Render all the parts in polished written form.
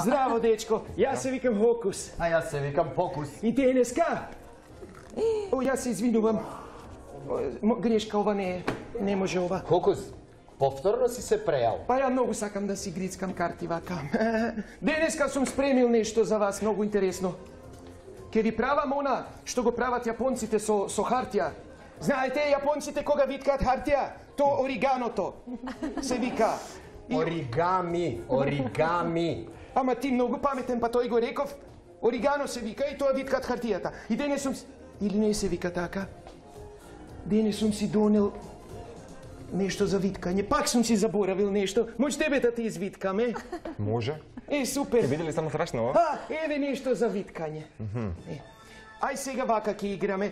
Здраво, дечко. Јас се викам Хокус. А јас се викам Покус. И денеска? О, јас се извинувам. Грешка, ова не може ова. Хокус, повторно си се прејал. Па ја многу сакам да си грицкам карти вака. Денеска сум спремил нешто за вас многу интересно. Ке ви правам она што го прават јапонците со хартија. Знаете, јапонците кога виткаат хартија, то ориганото се вика. Оригами. Ама ти многу паметен, па тој го реков. Оригано се вика и тоа виткаат хартијата. И денес сум... Или не се вика така? Денес сум си донел нешто за виткање. Пак сум си заборавил нешто. Може тебе да ти извиткаме? Може. Супер. Ќе биде ли само страшно? Еве нешто за виткање. Ај сега вака ќе играме.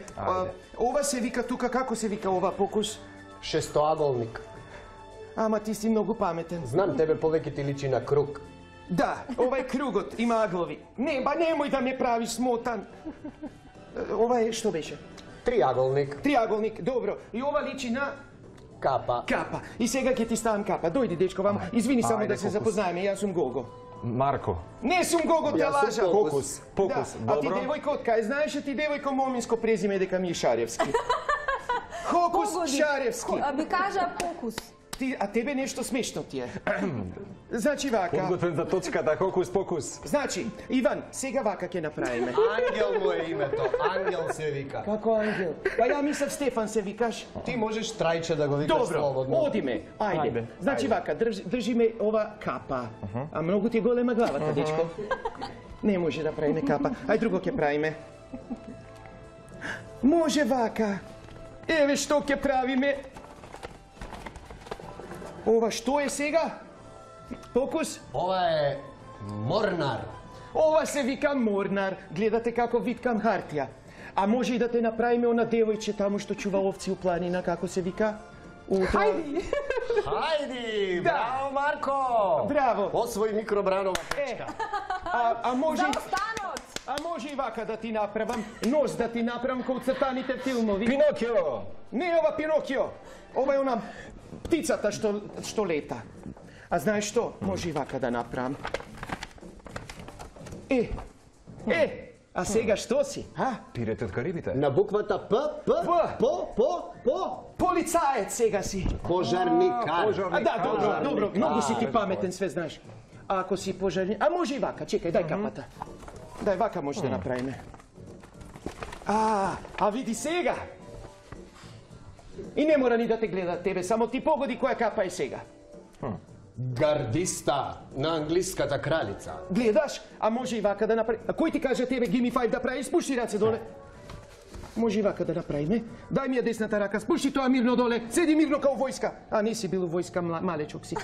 Ова се вика тука, како се вика ова, Покус? Шестоаголник. Ама ти си многу паметен. Знам, тебе повеќе ти личи на круг. Да, ова е кругот, има аглови. Не, ба немој да ме правиш смотан. Ова е, што беше? Триаголник. Триаголник, добро. И ова личи на... Капа. Капа. И сега ќе ти ставам капа. Дојди, дечко, вам. Извини само да се запознаеме, јас сум Гого. Марко. Не сум Гого, те лажа. Покус. А ти девојко од кај? Знаеш ти девојко моминско презиме дека ми е Шаревски. Хокус Шаревски. Би кажа Покус. А тебе нешто смешно ти е. Значи вака. Подготвен за точката, Хокус Покус. Значи, Иван, сега вака ќе направиме. Ангел му е името. Ангел се вика. Како ангел? Па ја мислев Стефан се викаш. Ти можеш Трајче да го викаш слободно. Добро, одиме. Ајде. Значи вака, држиме ова капа. А многу ти е голема главата, дечко. Не може да правиме капа. Ај друго ќе правиме. Може вака. Еве што ќе правиме. Ова што е сега? Покус? Ова е морнар. Ова се вика морнар. Гледате како виткам хартија. А може и да те направиме она девојче таму што чува овци у планина, како се вика? Хајди! Хајди! Браво, Марко! Браво! Освој микробранова пречка. А може... За останот! А може и вака да ти направам, нос да ти направам како цртаните филмови. Пинокио! Не ова Пинокио. Ова е она птицата што лета. А знаеш што? Може и вака да направам. А сега што си? Пирете од Карибите. На буквата П. Полицаец сега си. Пожарникар. Да, добро, многу си ти паметен, све знаеш. А ако си пожарник... А може и вака, чекај, дај капата. Дај, вака може да направиме. А види сега. И не мора ни да те гледа тебе, само ти погоди која капа е сега. Гардиста на англиската кралица. Гледаш? А може и вака да направи... А кој ти каже тебе give me 5 да прави? Спушти раце доле. Може и вака да направиме. Дај ми ја десната рака, спушти тоа мирно доле. Седи мирно као војска. А не си бил у војска, малечок си.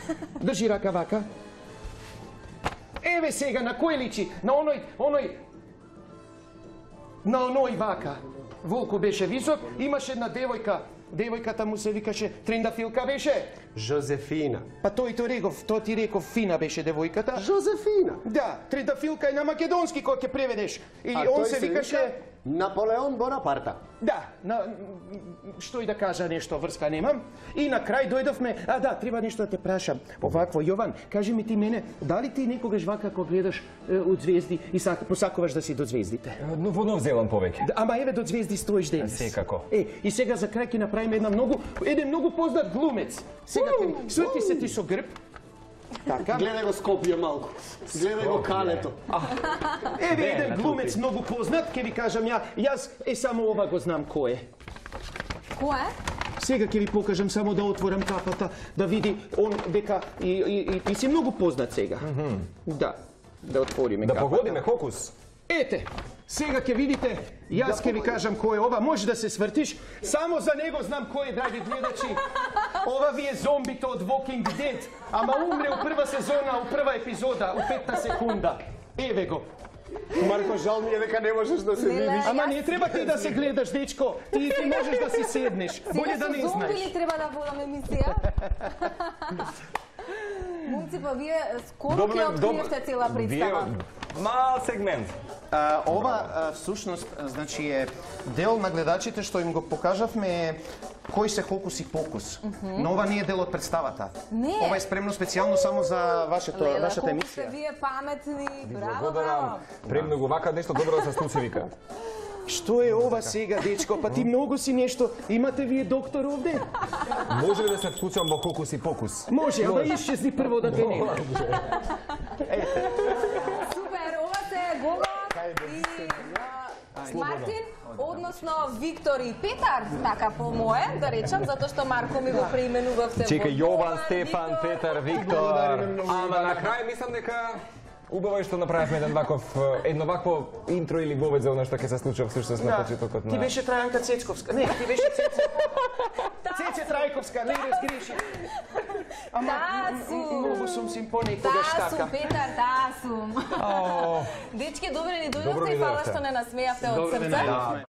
Држи рака вака. Еве сега, на кој личи? На оној вака. Волко беше висок, имаше една девојка. Девојката му се викаше Трендафилка беше? Жозефина. Па тој ти реков Фина беше девојката. Жозефина. Да, Трендафилка е на македонски кој ќе преведеш. И он се викаше Наполеон Бонапарта. Да, што и да кажа, нешто врска немам. И на крај дојдовме, треба нешто да те прашам. Овакво, Јован, кажи ми ти мене, дали ти некогаш вака кога гледаш од звезди и посакуваш да си до звездите? Во Нов Зеланд повеќе. Ама еве до звезди стоиш денес. Секако. И сега за крај ќе направиме еден многу познат глумец. Сега сврти се ти со грб. Така. Гледај го Скопје малку. Гледај го Калето. Еве еден глумец многу познат, ќе ви кажам јас само ова го знам кој е. Кој е? Сега ќе ви покажам само да отворам капата, да види он дека и ти си многу познат сега. Да отвориме капата. Да погодиме Хокус. Ете, сега ќе видите, јас ќе ви кажам кој е ова, може да се свртиш, само за него знам кој е, драги гледачи. Ова ви е зомбито од Walking Dead, ама умре у прва сезона, у прва епизода, у 5 секунда. Еве го. Марко, жал ми е дека не можеш да се видиш. Ама не треба ти да се гледаш, дечко. Ти можеш да си седнеш. Боле да не знаеш. Сега со зомби ли треба да водам емисија? Момци, па вие скоро ќе откриевте цела представа. Мал сегмент. Ова всушност значи е дел на гледачите што им го покажавме кој се Хокус и Покус. Но ова не е дел од представата. Не. Ова е спремно специјално само за вашата Колку сте емисија. вие паметни. Браво, Благодарам. браво. Премногу вака нешто добро да се случи вика. Што е ова сега, дечко? Па ти многу си нешто. Имате вие доктор овде? Може ли да се вклучам во Хокус и Покус? Може, ама исчезни прво да те нема. Супер, ова се Гого и Мартин, односно Виктор и Петар, така по мое, да речам, затоа што Марко ми го преименувавте. Чекај, во Јован, Јован, Стефан, Виктор. Петар, Виктор. Благодариме многу. Ама на крај мислам дека убаво е што направивме едно вакво интро или вовед за она што ќе се случи всушност на почетокот Ти на... беше Трајанка Цецковска. Не, ти беше Цеце Трајковска, не разгреши. Ама Тасу. многу сум симпонекогаш Тасу, така. Петар, тасу. Дечки, добре ни Добро дојдовте ни и фала дојдовте. што не насмеавте од Добро ви срца. најдовме.